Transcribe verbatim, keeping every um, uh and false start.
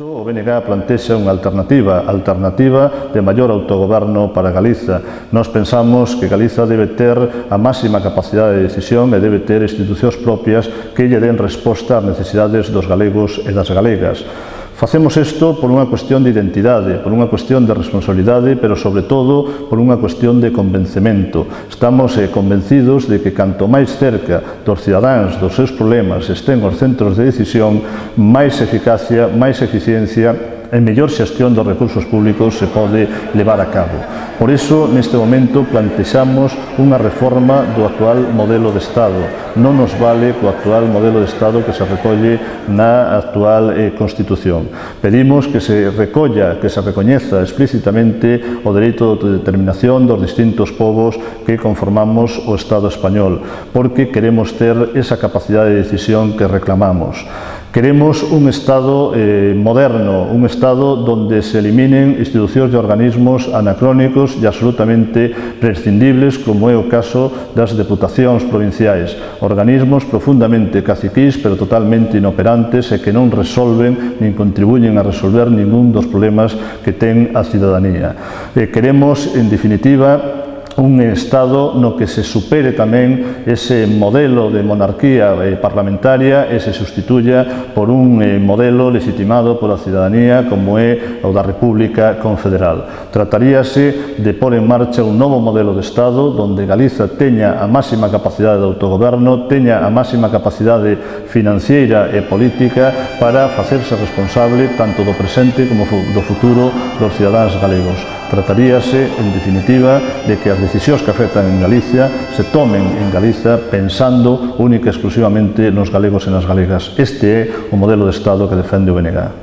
O B N G plantexa unha alternativa, alternativa de maior autogoberno para Galiza. Nós pensamos que Galiza debe ter a máxima capacidade de decisión e debe ter institucións propias que lle den resposta ás necesidades dos galegos e das galegas. Facemos isto por unha cuestión de identidade, por unha cuestión de responsabilidade, pero sobre todo por unha cuestión de convencemento. Estamos eh, convencidos de que canto máis cerca dos cidadáns, dos seus problemas, estén os centros de decisión, máis eficacia, máis eficiencia e mellor xestión dos recursos públicos se pode levar a cabo. Por iso, neste momento, plantexamos unha reforma do actual modelo de Estado. Non nos vale co actual modelo de Estado que se recolle na actual eh, Constitución. Pedimos que se recolla, que se recoñeza explícitamente o dereito de determinación dos distintos povos que conformamos o Estado español, porque queremos ter esa capacidade de decisión que reclamamos. Queremos un Estado eh, moderno, un Estado donde se eliminen institucións e organismos anacrónicos e absolutamente prescindibles, como é o caso das deputacións provinciais, organismos profundamente caciquís, pero totalmente inoperantes e que non resolven nin contribuyen a resolver ningún dos problemas que ten a cidadanía. Eh, queremos, en definitiva, un Estado no que se supere tamén ese modelo de monarquía parlamentaria e se sustituya por un modelo legitimado pola cidadanía como é o da República Confederal. Trataríase de pôr en marcha un novo modelo de Estado donde Galiza teña a máxima capacidade de autogoberno, teña a máxima capacidade financiera e política para facerse responsable tanto do presente como do futuro dos cidadáns galegos. Trataríase, en definitiva, de que as decisións que afectan en Galicia se tomen en Galiza pensando única e exclusivamente nos galegos e nas galegas. Este é o modelo de Estado que defende o B N G.